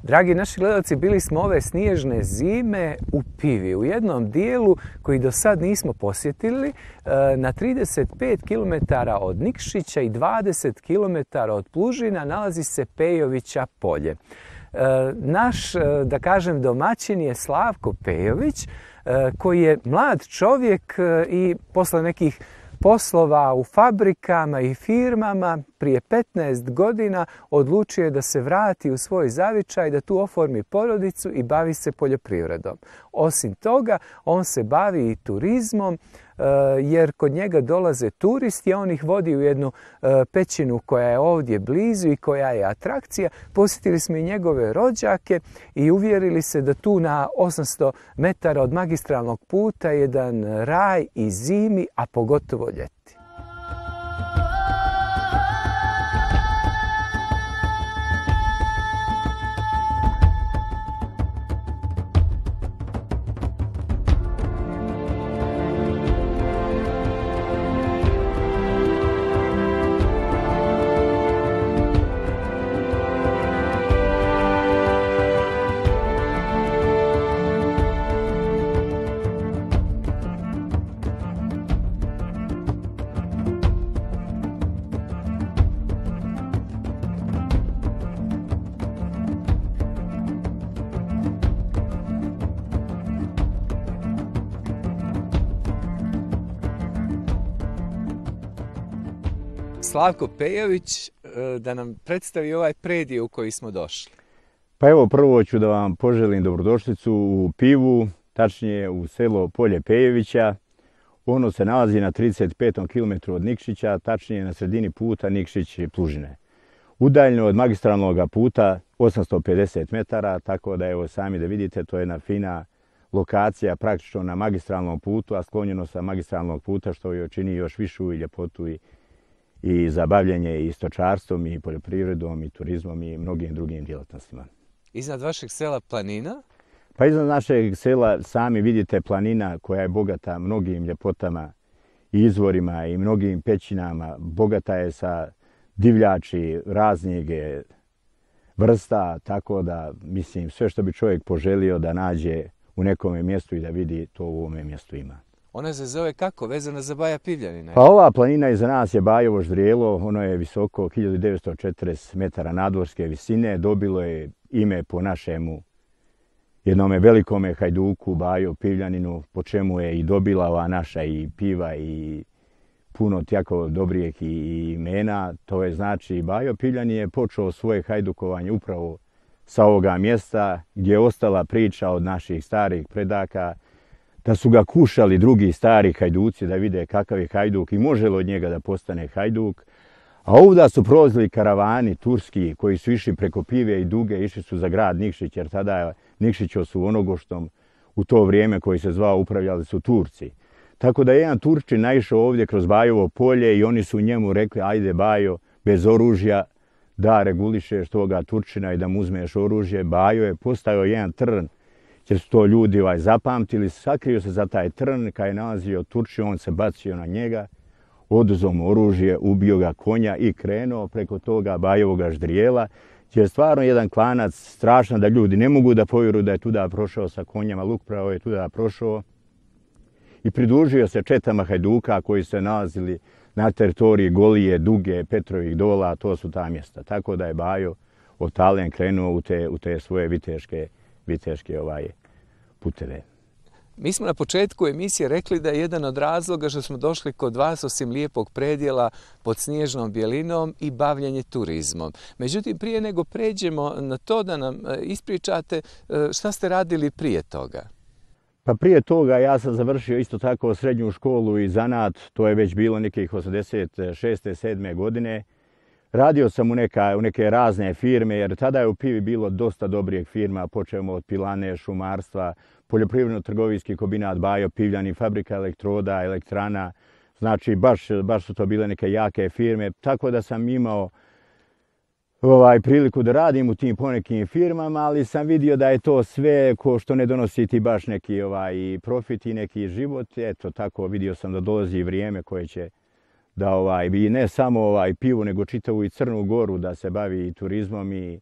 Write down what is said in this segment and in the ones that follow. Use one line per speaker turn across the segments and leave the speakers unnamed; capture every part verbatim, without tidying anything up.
Dragi naši gledalci, bili smo ove snježne zime u Pivi, u jednom dijelu koji do sad nismo posjetili, na trideset pet kilometara od Nikšića i dvadeset kilometara od Plužina nalazi se Pejovića polje. Naš, da kažem, domaćin je Slavko Pejović, koji je mlad čovjek i posle nekih poslova u fabrikama i firmama prije petnaest godina odlučio je da se vrati u svoj zavičaj, da tu oformi porodicu i bavi se poljoprivredom. Osim toga, on se bavi i turizmom, jer kod njega dolaze turisti, a on ih vodi u jednu pećinu koja je ovdje blizu i koja je atrakcija. Posjetili smo i njegove rođake i uvjerili se da tu na osamsto metara od magistralnog puta je jedan raj i zimi, a pogotovo ljeti. Slavko Pejović, da nam predstavi ovaj predije u koji smo došli.
Pa evo, prvo ću da vam poželim dobrodošlicu u Pivu, tačnije u selo Polje Pejovića. Ono se nalazi na trideset petom kilometru od Nikšića, tačnije na sredini puta Nikšić-Plužine. Udaljeno od magistralnog puta osamsto pedeset metara, tako da evo sami da vidite, to je jedna fina lokacija praktično na magistralnom putu, a sklonjeno sa magistralnog puta što joj čini još višu i ljepotu i i za bavljenje i stočarstvom i poljoprivredom i turizmom i mnogim drugim djelatnostima.
Iznad vašeg sela planina?
Pa iznad našeg sela sami vidite planina koja je bogata mnogim ljepotama i izvorima i mnogim pećinama. Bogata je sa divljači, raznjege, vrsta, tako da mislim sve što bi čovjek poželio da nađe u nekom mjestu i da vidi, to u ovome mjestu ima.
Ona se zove kako? Vezana za Baja Pivljanina?
Pa ova planina iza nas je Bajovo Ždrijelo. Ono je visoko hiljadu devetsto četrdeset metara nadmorske visine. Dobilo je ime po našemu jednome velikome hajduku, Bajo Pivljaninu, po čemu je i dobila ova naša i piva i puno jako dobrijih imena. To je znači Bajo Pivljanin je počeo svoje hajdukovanje upravo sa ovoga mjesta gdje je ostala priča od naših starih predaka, da su ga kušali drugi stari hajduci da vide kakav je hajduk i može li od njega da postane hajduk. A ovdje su prolazili karavani turski koji su išli preko Pive i Duge, išli su za grad Nikšić, jer tada Nikšićo su Onogoštom u to vrijeme koji se zvao upravljali su Turci. Tako da je jedan Turčin naišao ovdje kroz Bajovo polje i oni su njemu rekli, ajde Bajo, bez oružja da regulišeš toga Turčina i da mu uzmeš oružje. Bajo je postao jedan trn, jer su to ljudi ovaj, zapamtili, sakrio se za taj trn, kad je nalazio Turčin, on se bacio na njega, oduzeo mu oružje, ubio ga konja i krenuo preko toga Bajovoga Ždrijela, jer je stvarno jedan klanac strašan da ljudi ne mogu da povjeruju da je tuda prošao sa konjama, luk pravo je tuda prošao i pridružio se četama hajduka koji se nalazili na teritoriji Golije, Duge, Petrovih dola, to su ta mjesta. Tako da je Bajo od Talen krenuo u te, u te svoje viteške viteške ovaj puteve.
Mi smo na početku emisije rekli da je jedan od razloga što smo došli kod vas osim lijepog predjela pod snježnom bijelinom i bavljenje turizmom. Međutim, prije nego pređemo na to da nam ispričate šta ste radili prije toga.
Pa prije toga ja sam završio isto tako srednju školu i zanat, to je već bilo nekih osamdeset šeste sedme godine. Radio sam u, neka, u neke razne firme, jer tada je u Pivi bilo dosta dobrih firma. Počeo od pilane, šumarstva, poljoprivredno-trgovinski kombinat Bajo Pivljanin, fabrika elektroda, elektrana. Znači, baš, baš su to bile neke jake firme. Tako da sam imao ovaj, priliku da radim u tim ponekim firmama, ali sam vidio da je to sve ko što ne donosi ti baš neki ovaj, profit i neki život. Eto, tako vidio sam da dolazi vrijeme koje će da ovaj, bi ne samo ovaj, Pivu, nego čitavu i Crnu Goru da se bavi turizmom i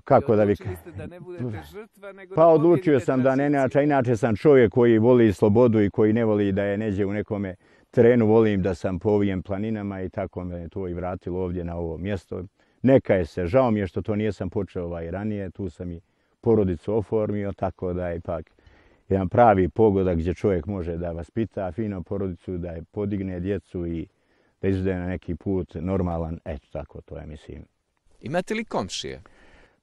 kako da vi...
Odlučili ste da ne budete žrtva, nego
Pa
da
odlučio
pobijedite
sam da ne,
tranziciju.
inače, inače sam čovjek koji voli slobodu i koji ne voli da je neđe u nekome terenu, volim da sam po ovim planinama i tako me je to i vratilo ovdje na ovo mjesto. Neka je se, žao mi je što to nijesam počeo ovaj ranije, tu sam i porodicu oformio, tako da je ipak jedan pravi pogodak gdje čovjek može da vaspita fino porodicu, da je podigne djecu i da izvede na neki put normalan, eto tako to je, mislim.
Imate li komšije?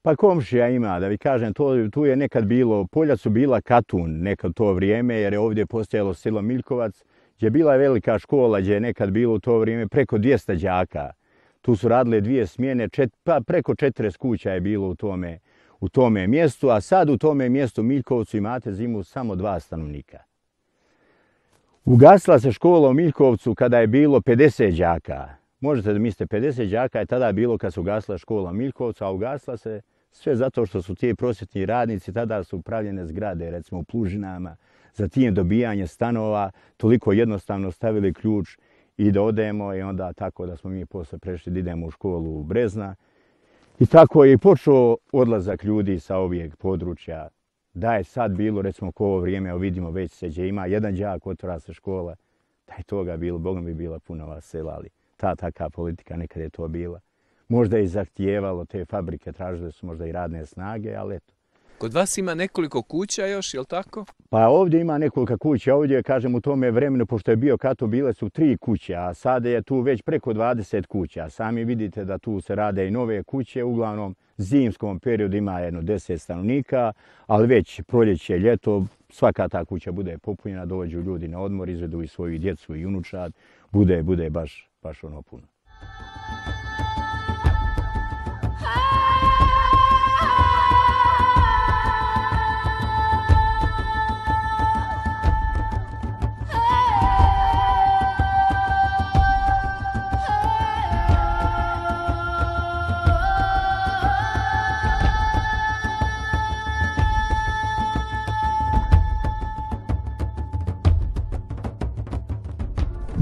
Pa komšija ima, da vi kažem, to, tu je nekad bilo, polja su bila Katun nekad to vrijeme, jer je ovdje postojalo selo Miljkovac, gdje je bila velika škola, gdje je nekad bilo u to vrijeme preko dvjesto đaka. Tu su radile dvije smjene, čet, pa preko četrdeset kuća je bilo u tome, u tome mjestu, a sad u tome mjestu Miljkovcu imate zimu samo dva stanovnika. Ugasila se škola u Miljkovcu kada je bilo pedeset đaka. Možete da mislite, pedeset đaka je tada bilo kad se ugasila škola u Miljkovcu, a ugasila se sve zato što su ti prosvjetni radnici, tada su pravljene zgrade, recimo u Plužinama, za tim dobijanje stanova, toliko jednostavno stavili ključ i da odemo i onda tako da smo mi posle prešli da idemo u školu u Brezna. I tako je i počeo odlazak ljudi sa ovih područja. Da je sad bilo, recimo, ko ovo vrijeme, evo vidimo već se gdje ima jedan đak, otvara se škola, da je toga bilo, Bogom bi bila puno vas sela, ali ta taka politika nekad je to bila. Možda je i zahtijevalo, te fabrike tražile su možda i radne snage, ali eto.
Kod vas ima nekoliko kuća još, je li tako?
Pa ovdje ima nekoliko kuća, ovdje, kažem, u tome vremenu, pošto je bio Kato, bile su tri kuće, a sada je tu već preko dvadeset kuća. Sami vidite da tu se rade i nove kuće, uglavnom zimskom periodu ima jedno deset stanovnika, ali već proljeće, ljeto, svaka ta kuća bude popunjena, dođu ljudi na odmor, izvedu i svoju djecu i unučad, bude, bude baš, baš ono puno.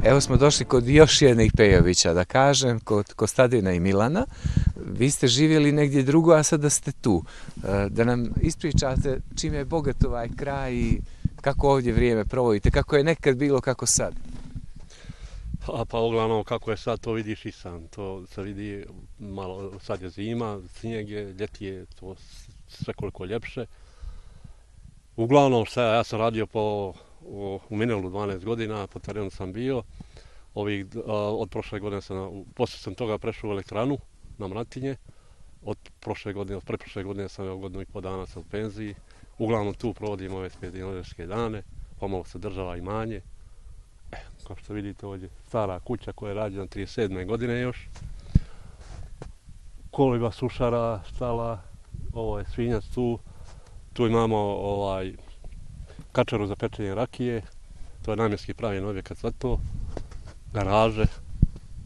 Evo smo došli kod još jednih Pejovića, da kažem, kod Kostadina i Milana. Vi ste živjeli negdje drugo, a sada ste tu. Da nam ispričate čime je bogat ovaj kraj i kako ovdje vrijeme provodite, kako je nekad bilo, kako sad.
A pa uglavnom kako je sad, to vidiš i sam. To se vidi malo, sad je zima, snijeg je, ljeti je to sve koliko ljepše. Uglavnom šta, ja sam radio po U, u Minelu dvanaest godina, po terenu sam bio. Ovih, a, od prošle godine sam, poslije sam toga prešao u elektranu na Mratinje. Od prošle godine, od preprošle godine sam evo godinu i po dana sam u penziji. Uglavnom tu provodim ove penzionerske dane, pomalo se država imanje. E, kao što vidite ovdje, stara kuća koja je rađena trideset sedme godine još. Koliba sušara, stala, ovo je svinjac tu. Tu imamo ovaj kačaru za pečenje rakije, to je namjenski pravljen objekat za to, garaže,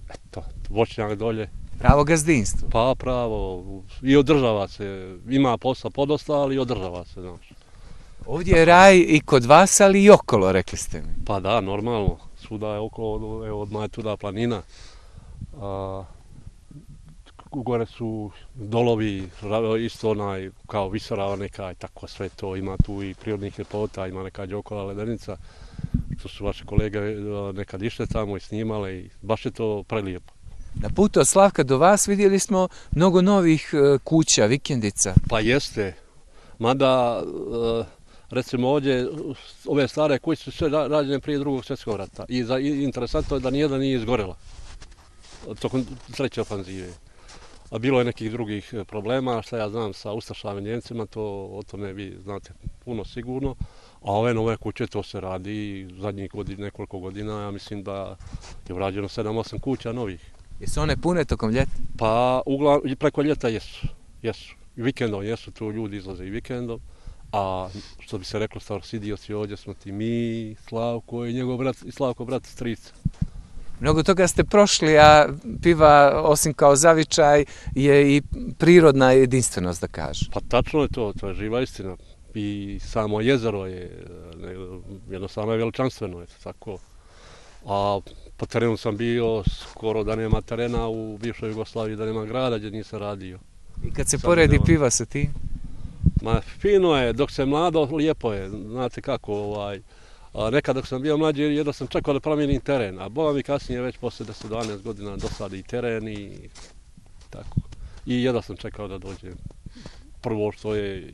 eto, voćnjak dolje.
Pravo gazdinstvo.
Pa pravo, i održava se, ima posla podosta, ali i održava se, znaš.
Ovdje je raj i kod vas, ali i okolo, rekli ste mi.
Pa da, normalno, svuda je okolo, evo, odmah je tuda planina. A, gore su dolovi, isto onaj, kao visorava neka i tako sve to, ima tu i prirodnih ljepota, ima neka Đokova ledenica, što su vaše kolege nekad išle tamo i snimale i baš je to prelijepo.
Na putu od Slavka do vas vidjeli smo mnogo novih kuća, vikendica.
Pa jeste, mada recimo ovdje ove stare kuće su sve rađene prije drugog svjetskog rata i, za, i interesantno je da nijedna nije izgorela tokom treće ofanzive. A bilo je nekih drugih problema, šta ja znam sa ustašama i Njemcima, to o tome vi znate puno sigurno. A ove nove kuće to se radi zadnjih godina, nekoliko godina, ja mislim da je urađeno sedam osam kuća novih.
Jesu one pune tokom ljeta?
Pa uglavnom preko ljeta jesu, jesu. I vikendom jesu, tu ljudi izlaze i vikendom. A što bi se reklo starosidioci, ovdje smo ti mi, Slavko i njegov brat, i Slavko brat strica.
Mnogo toga ste prošli, a piva, osim kao zavičaj, je i prirodna jedinstvenost, da kažem.
Pa tačno je to, to je živa istina. I samo jezero je, jednostavno je veličanstveno, je tako. A po terenu sam bio skoro da nema terena u bivšoj Jugoslaviji, da nema grada gdje nisam radio.
I kad se
Sad
poredi
idemo.
piva sa tim?
Ma fino je, dok se mlado, lijepo je, znate kako, ovaj, a nekad dok sam bio mlađi, jedno sam čekao da promijenim teren, a boga mi kasnije već posle deset do dvanaest godina dosadi i teren i tako. I jedno sam čekao da dođem. Prvo što je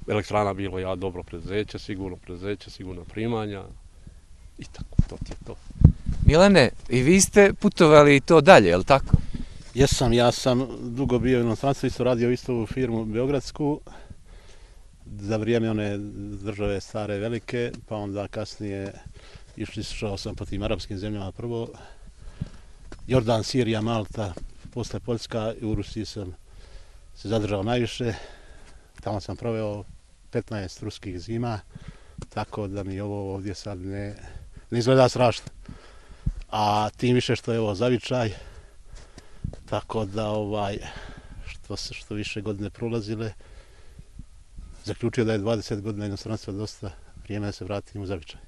elektrana bilo ja dobro preduzeće, sigurno preduzeće, sigurno primanja i tako, to ti je to.
Milane, i vi ste putovali i to dalje, je li tako?
Jesam, ja sam dugo bio u inostranstvu, isto radio istu firmu beogradsku, za vrijeme one države stare velike, pa onda kasnije išli šao sam po tim arapskim zemljama prvo, Jordan, Sirija, Malta, posle Poljska i u Rusiji sam se zadržao najviše, tamo sam proveo petnaest ruskih zima, tako da mi ovo ovdje sad ne, ne izgleda strašno. A tim više što je ovo zavičaj, tako da ovaj, što se što više godine prolazile, zaključio da je dvadeset godina inostranstva dosta vrijeme da se vratim u zavičaj.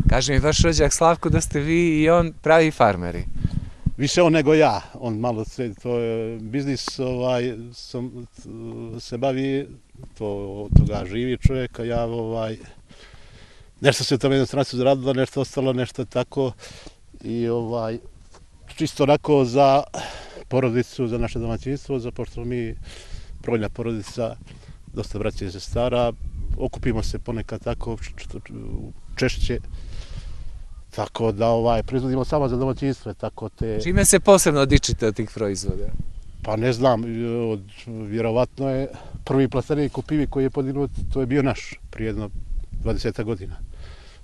Kaže mi vaš rođak Slavko da ste vi i on pravi farmeri.
Više on nego ja, on malo se, to je biznis, ovaj, sam, se bavi, to, od toga živi čovjek, a ja ovaj, nešto se u tom inostranstvu zaradilo, nešto ostalo, nešto tako i ovaj, čisto onako za porodicu, za naše domaćinstvo, za pošto mi brojna porodica, dosta braća i sestara, okupimo se ponekad tako češće, tako da ovaj, proizvodimo samo za domaćinstvo, tako te...
Čime se posebno dičite od tih proizvoda?
Pa ne znam, od, vjerovatno je prvi plastenik u pivi koji je podignut, to je bio naš, prije jedno dvadeset godina.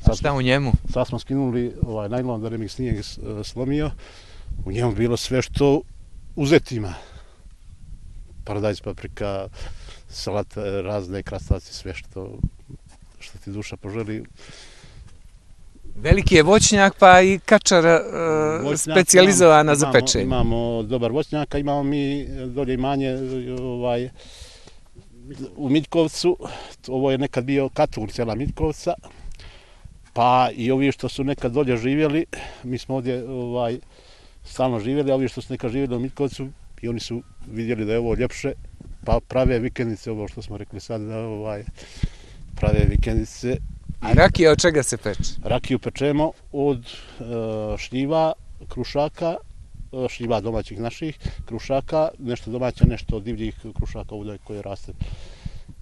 A šta u njemu?
Sad smo skinuli ovaj najlon da ne mi snijeg slomio, u njemu bilo sve što uzetima. Paradajz, paprika, salat, razne krastavci, sve što, što ti duša poželi.
Veliki je voćnjak, pa i kačara uh, specijalizovana za
imamo,
pečenje.
Imamo dobar voćnjak, imamo mi dolje imanje ovaj, u Miljkovcu, ovo je nekad bio Katur, cijela Miljkovca, pa i ovi što su nekad dolje živjeli, mi smo ovdje ovaj, stalno živjeli, a ovi što su nekad živjeli u Miljkovcu, i oni su vidjeli da je ovo ljepše, pa prave vikendice, ovo što smo rekli sad, da ovaj, prave vikendice.
A rakija od čega se peče?
Rakiju pečemo od uh, šljiva, krušaka, uh, šljiva domaćih naših, krušaka, nešto domaća, nešto od divljih krušaka ovdje koje raste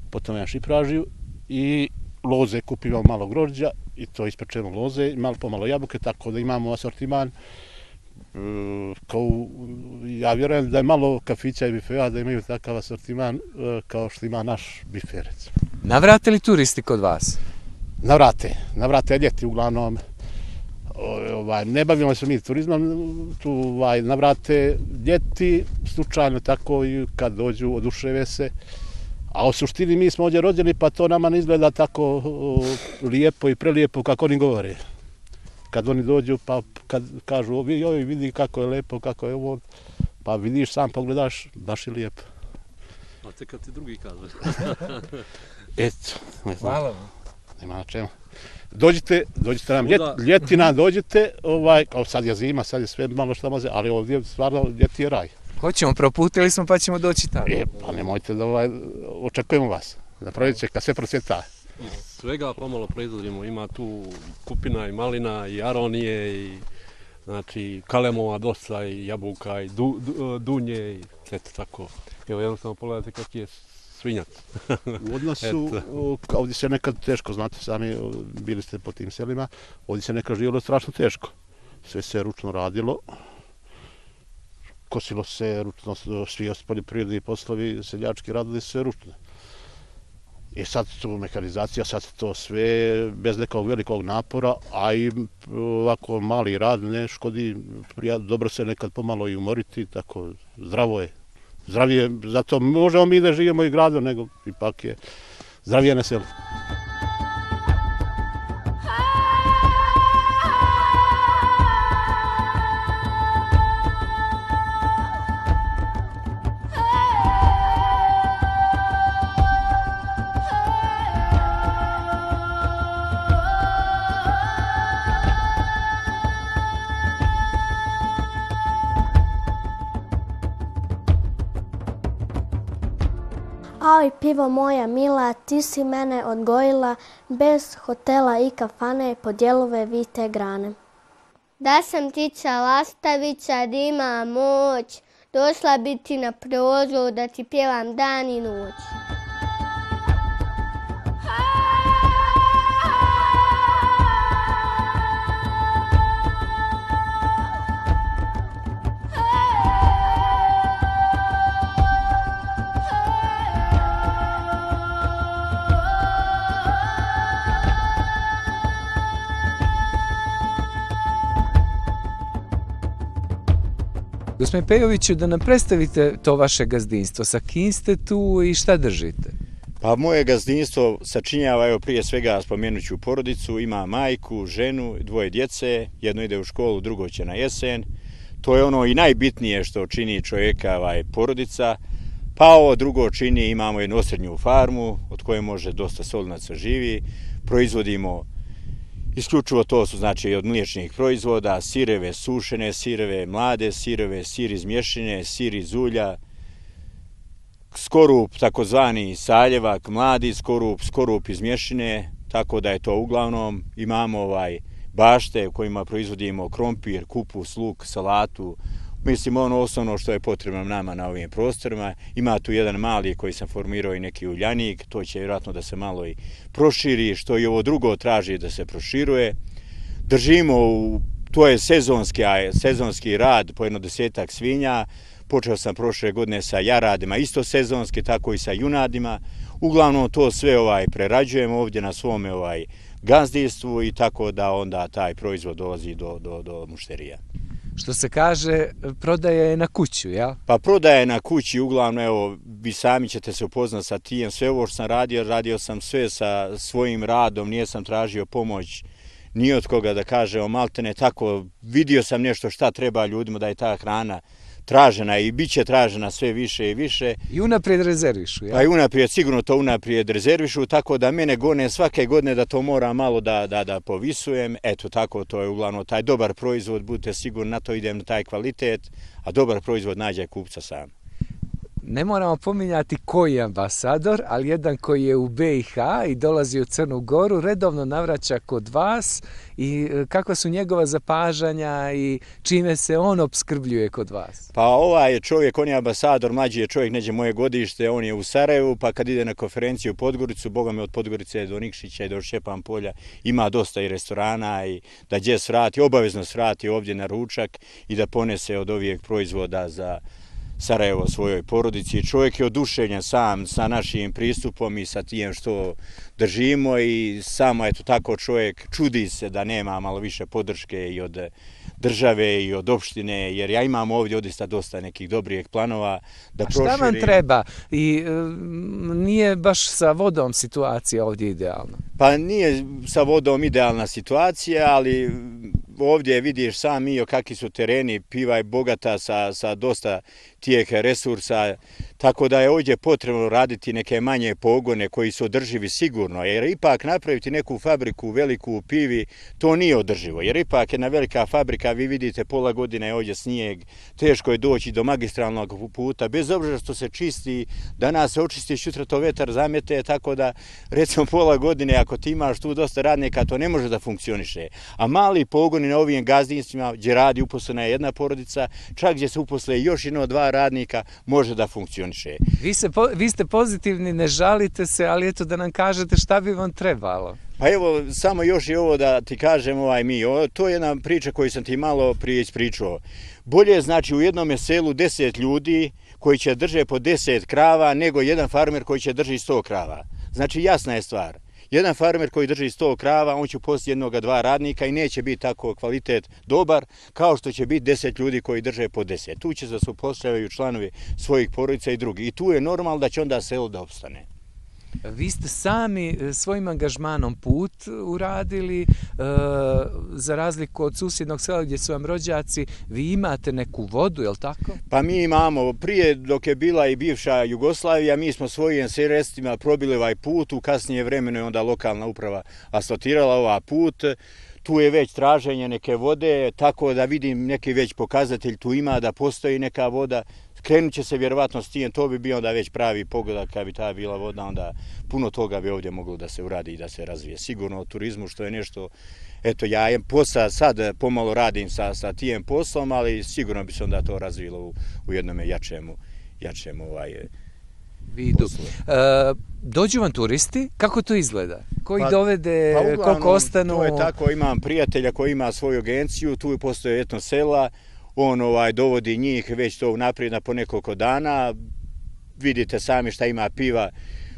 po tome na šipražiju i loze, kupimo malo grožđa i to ispečemo loze, malo pomalo jabuke, tako da imamo asortiman. Uh, kao, ja vjerujem da je malo kafića i bifea da imaju takav asortiman uh, kao što ima naš bife, recimo.
Navrate li turisti kod vas?
Navrate, navrate ljeti uglavnom. Ovaj, ne bavimo se mi turizmom, tu ovaj, navrate ljeti, slučajno tako i kad dođu, oduševe se. A u suštini mi smo ovdje rođeni, pa to nama ne izgleda tako o, lijepo i prelijepo kako oni govore. Kad oni dođu, pa kad kažu, joj, vidi kako je lepo, kako je ovo, pa vidiš sam, pogledaš, baš je lijepo.
A te kad ti drugi kažeš.
Eto, ne znam.
Hvala vam.
Nema na čemu. Dođite, dođite nam ljet, ljetina, dođite, ovaj, kao sad je zima, sad je sve malo šta može, ali ovdje stvarno ljeti je raj.
Hoćemo, proputili smo pa ćemo doći tamo.
E, pa nemojte da ovaj, očekujemo vas, da proljeće kad sve procvjeta.
Svega pomalo proizvodimo, ima tu kupina i malina i aronije i znači kalemova dosta i jabuka i du, du, dunje i eto tako. Evo jednostavno pogledajte kak je svinjac.
U odnosu, ovdje se nekad teško, znate sami, bili ste po tim selima, ovdje se nekad živjelo strašno teško. Sve se ručno radilo, kosilo se ručno, svi poljoprivredni poslovi, seljački radili sve ručno. I sad tu mehanizacija, sad to sve bez nekog velikog napora, a i ovako mali rad ne škodi, dobro se nekad pomalo i umoriti, tako zdravo je. Zdravije, zato možemo mi da živimo i gradu, nego ipak je zdravije na selu.
Oj, pivo moja mila, ti si mene odgojila, bez hotela i kafane pod dijelove vite grane.
Da sam ptica lastavica, da imam moć, došla bi ti na prozor da ti pjevam dan i noć.
Gospodine Pejoviću, da nam predstavite to vaše gazdinstvo. Sa kim ste tu i šta držite?
Pa moje gazdinstvo sačinjava, evo prije svega spomenut ću porodicu, ima majku, ženu, dvoje djece, jedno ide u školu, drugo će na jesen. To je ono i najbitnije što čini čovjeka ovaj, porodica. Pa ovo drugo čini, imamo jednu osrednju farmu od koje može dosta solinaca živi. Proizvodimo isključivo to su znači od mliječnih proizvoda, sireve, sušene sireve, mlade sireve, sir iz mješine, sir iz ulja, skorup takozvani saljevak, mladi skorup, skorup iz mješine, tako da je to uglavnom. Imamo ovaj bašte u kojima proizvodimo krompir, kupus, luk, salatu. Mislim ono osnovno što je potrebno nama na ovim prostorima. Ima tu jedan mali koji sam formirao i neki uljanik, to će vjerojatno da se malo i proširi, što i ovo drugo traži da se proširuje. Držimo, u, to je sezonski, sezonski rad po jedno desetak svinja. Počeo sam prošle godine sa jaradima, isto sezonski, tako i sa junadima. Uglavnom to sve ovaj prerađujemo ovdje na svome ovaj gazdinstvu i tako da onda taj proizvod dolazi do, do, do mušterija.
Što se kaže, prodaje je na kuću, jel?
Pa prodaje na kući, uglavnom, evo, vi sami ćete se upoznat sa tijem. Sve ovo što sam radio, radio sam sve sa svojim radom, nijesam tražio pomoć ni od koga da kažemo, maltene tako, vidio sam nešto šta treba ljudima da je ta hrana tražena i bit će tražena sve više i više.
I unaprijed rezervišu, ja?
Pa i unaprijed, sigurno to unaprijed rezervišu, tako da mene gone svake godine da to mora malo da, da, da povisujem. Eto tako, to je uglavnom taj dobar proizvod, budite sigurni, na to idem na taj kvalitet, a dobar proizvod nađe kupca sam.
Ne moramo pominjati koji je ambasador, ali jedan koji je u be i ha i dolazi u Crnu Goru, redovno navraća kod vas i kakva su njegova zapažanja i čime se on opskrbljuje kod vas?
Pa ovaj je čovjek, on je ambasador, mlađi je čovjek, neđe moje godište, on je u Sarajevu, pa kad ide na konferenciju u Podgoricu, boga me od Podgorice do Nikšića i do Šćepan polja, ima dosta i restorana i da gdje svrati, obavezno svrati ovdje na ručak i da ponese od ovih proizvoda za Sarajevo svojoj porodici. Čovjek je oduševljen sam sa našim pristupom i sa tijem što držimo i samo eto tako čovjek čudi se da nema malo više podrške i od države i od opštine, jer ja imam ovdje odista dosta nekih dobrih planova da proširim.
A šta vam treba? I e, nije baš sa vodom situacija ovdje idealna?
Pa nije sa vodom idealna situacija, ali ovdje vidiš sam i o kakvi su tereni, piva je bogata sa, sa dosta tijek resursa, tako da je ovdje potrebno raditi neke manje pogone koji su održivi sigurno, jer ipak napraviti neku fabriku veliku u pivi, to nije održivo, jer ipak jedna velika fabrika, vi vidite pola godine je ovdje snijeg, teško je doći do magistralnog puta, bez obzira što se čisti, danas se očisti, sutra to vetar zamete, tako da recimo pola godine ako ti imaš tu dosta radnika, to ne može da funkcioniše. A mali pogoni na ovim gazdinstvima gdje radi uposlena je jedna porodica, čak gdje se uposle još jedno dva radnika, može da funkcioniše.
Vi, se, vi ste pozitivni, ne žalite se, ali eto da nam kažete šta bi vam trebalo.
Pa evo, samo još i ovo da ti kažem, ovaj mi, o, to je jedna priča koju sam ti malo prije ispričao. Bolje je znači u jednom selu deset ljudi koji će drže po deset krava nego jedan farmer koji će drži sto krava. Znači jasna je stvar. Jedan farmer koji drži sto krava, on će poslije jednoga dva radnika i neće biti tako kvalitet dobar kao što će biti deset ljudi koji drže po deset. Tu će da se upošljavaju članovi svojih porodica i drugi. I tu je normalno da će onda selo da opstane.
Vi ste sami svojim angažmanom put uradili, e, za razliku od susjednog sela gdje su vam rođaci, vi imate neku vodu, je li tako?
Pa mi imamo, prije dok je bila i bivša Jugoslavija, mi smo svojim sredstvima probili ovaj put, u kasnije vremeno je onda lokalna uprava asfaltirala ovaj put. Tu je već traženje neke vode, tako da vidim neki već pokazatelj tu ima da postoji neka voda. krenut će se vjerovatno s tim, to bi bio onda već pravi pogodak, kad bi ta bila voda, onda puno toga bi ovdje moglo da se uradi i da se razvije. Sigurno o turizmu, što je nešto, eto ja je posla, sad pomalo radim sa, sa tijem poslom, ali sigurno bi se onda to razvilo u, u jednom jačemu, jačemu ovaj,
vidu. E, dođu vam turisti, kako to izgleda? Koji
pa,
dovede,
pa uglavnom,
koliko ostanu?
To je tako, imam prijatelja koji ima svoju agenciju, tu postoje etno sela, on ovaj, dovodi njih već to naprijed na po nekoliko dana, vidite sami šta ima piva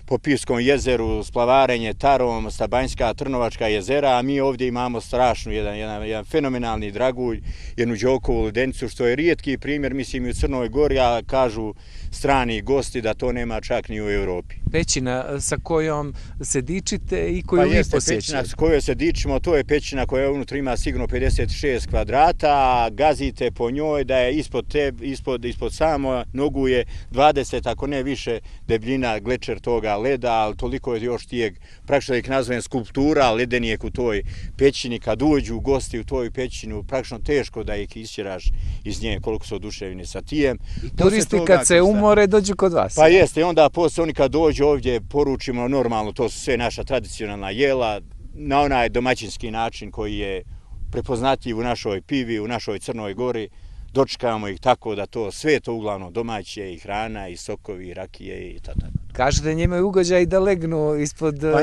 po Pivskom jezeru, splavarenje Tarom, Stabanjska, Trnovačka jezera, a mi ovdje imamo strašnu, jedan, jedan, jedan fenomenalni dragulj, jednu Đokovu ledenicu, što je rijetki primjer, mislim i u Crnoj Gori, a kažu strani gosti da to nema čak ni u Europi.
Pećina sa kojom se dičite i koju
pa
vi
jeste,
posjećate?
Pećina s kojoj se dičimo, to je pećina koja unutra ima sigurno pedeset šest kvadrata, a gazite po njoj da je ispod, te, ispod, ispod samo nogu je dvadeset, ako ne više, debljina, glečer toga leda, ali toliko je još tijeg, praktično ih nazovem skulptura, ledenijeg u toj pećini, kad uđu gosti u toj pećinu, praktično teško da ih isćeraš iz nje, koliko su oduševljeni sa tijem.
I turisti kad se umore dođu kod vas?
Pa jeste, i onda posle oni kad dođu ovdje poručimo normalno, to su sve naša tradicionalna jela, na onaj domaćinski način koji je prepoznatljiv u našoj pivi, u našoj Crnoj Gori, dočekamo ih tako da to sve to uglavnom domaće, i hrana, i sokovi, i rakije i tako.
Kažete njima je ugođaj da legnu ispod pa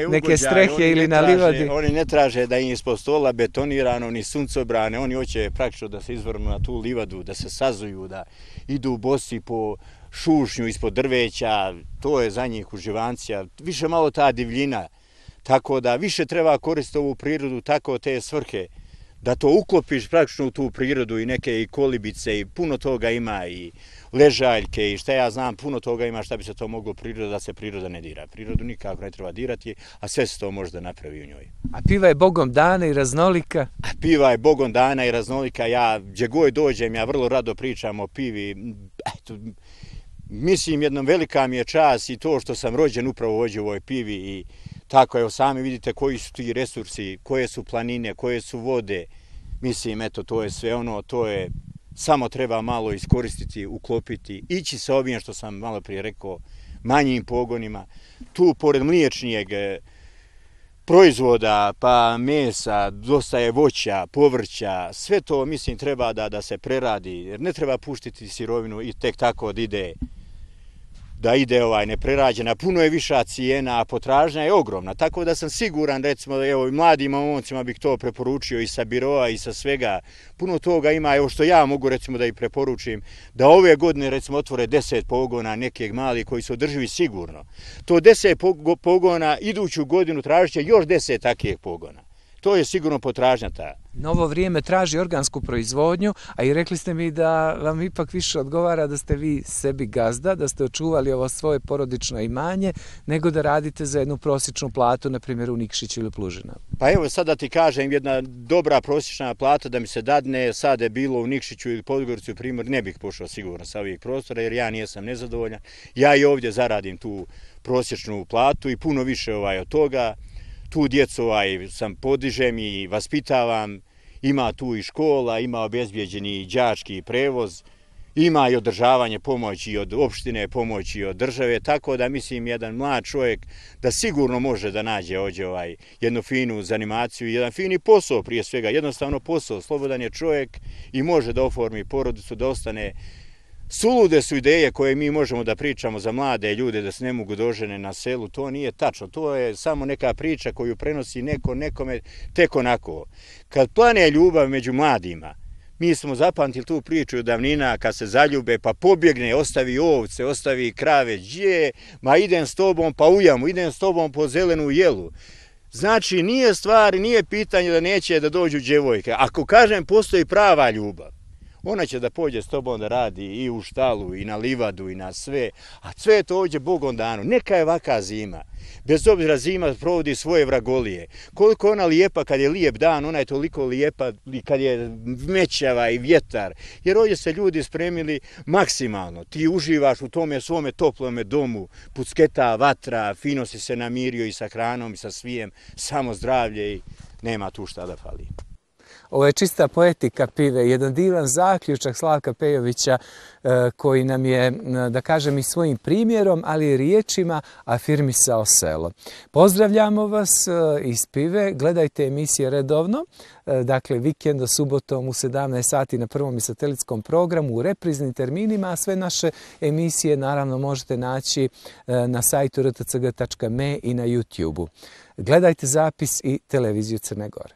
neke ugođaj, strehe ili na livadi?
Oni ne traže da im ispod stola betonirano, ni suncobrane, oni hoće praktično da se izvrnu na tu livadu, da se sazuju, da idu bosi po šušnju ispod drveća, to je za njih uživancija, više malo ta divljina, tako da više treba koristiti ovu prirodu, tako te svrhe, da to uklopiš praktično u tu prirodu i neke i kolibice i puno toga ima i ležaljke i šta ja znam, puno toga ima šta bi se to moglo priroda, da se priroda ne dira. Prirodu nikako ne treba dirati, a sve se to može da napravi u njoj.
A piva je bogom dana i raznolika?
A piva je bogom dana i raznolika, ja gdje god dođem, ja vrlo rado pričam o pivi, eto, mislim jednom velika mi je čast i to što sam rođen upravo ovdje u ovoj pivi i tako, evo sami vidite koji su ti resursi, koje su planine, koje su vode, mislim eto to je sve ono, to je, samo treba malo iskoristiti, uklopiti, ići sa ovim što sam malo prije rekao, manjim pogonima, tu pored mliječnijeg proizvoda, pa mesa, dosta je voća, povrća, sve to mislim treba da, da se preradi, jer ne treba puštiti sirovinu i tek tako da ide da ide ovaj neprerađena, puno je viša cijena, a potražnja je ogromna, tako da sam siguran, recimo, evo, mladim momcima bih to preporučio i sa biroa i sa svega, puno toga ima, evo što ja mogu recimo da ih preporučim, da ove godine recimo otvore deset pogona nekih malih koji su održivi sigurno. To deset pogona iduću godinu tražit će još deset takvih pogona. To je sigurno potražnja ta.
Novo vrijeme traži organsku proizvodnju, a i rekli ste mi da vam ipak više odgovara da ste vi sebi gazda, da ste očuvali ovo svoje porodično imanje, nego da radite za jednu prosječnu platu, na primjer u Nikšiću ili Plužinavu.
Pa evo sad da ti kažem, jedna dobra prosječna plata da mi se dadne, sad je bilo u Nikšiću ili Podgoricu, primjer, ne bih pošao sigurno sa ovih prostora, jer ja nijesam nezadovoljan. Ja i ovdje zaradim tu prosječnu platu i puno više ovaj od toga. Tu djecu ovaj, sam podižem i vaspitavam, ima tu i škola, ima obezbijeđeni đački prevoz, ima i održavanje pomoći od opštine, pomoći od države, tako da mislim jedan mlad čovjek da sigurno može da nađe ovdje ovaj, jednu finu zanimaciju, jedan fini posao prije svega, jednostavno posao, slobodan je čovjek i može da oformi porodicu, da ostane. Sulude su ideje koje mi možemo da pričamo za mlade ljude da se ne mogu dožene na selu, to nije tačno, to je samo neka priča koju prenosi neko nekome tek onako. Kad plane ljubav među mladima, mi smo zapamtili tu priču od davnina kad se zaljube pa pobjegne, ostavi ovce, ostavi krave, gdje, ma idem s tobom pa u jamu, idem s tobom po zelenu jelu. Znači nije stvar, nije pitanje da neće da dođu djevojke. Ako kažem postoji prava ljubav, ona će da pođe s tobom da radi i u štalu, i na livadu, i na sve. A sve je to ovdje Bogom dano. Neka je vaka zima. Bez obzira zima provodi svoje vragolije. Koliko ona lijepa kad je lijep dan, ona je toliko lijepa kad je mećava i vjetar. Jer ovdje se ljudi spremili maksimalno. Ti uživaš u tome svome toplome domu, pucketa, vatra, fino si se namirio i sa hranom i sa svijem, samo zdravlje i nema tu šta da fali.
Ovo je čista poetika pive, jedan divan zaključak Slavka Pejovića koji nam je, da kažem, i svojim primjerom, ali i riječima afirmisao selo. Pozdravljamo vas iz pive, gledajte emisije redovno, dakle vikenda subotom u sedamnaest sati na prvom i satelitskom programu u repriznim terminima, a sve naše emisije naravno možete naći na sajtu r t c g tačka m e i na YouTube-u. Gledajte zapis i televiziju Crne Gore.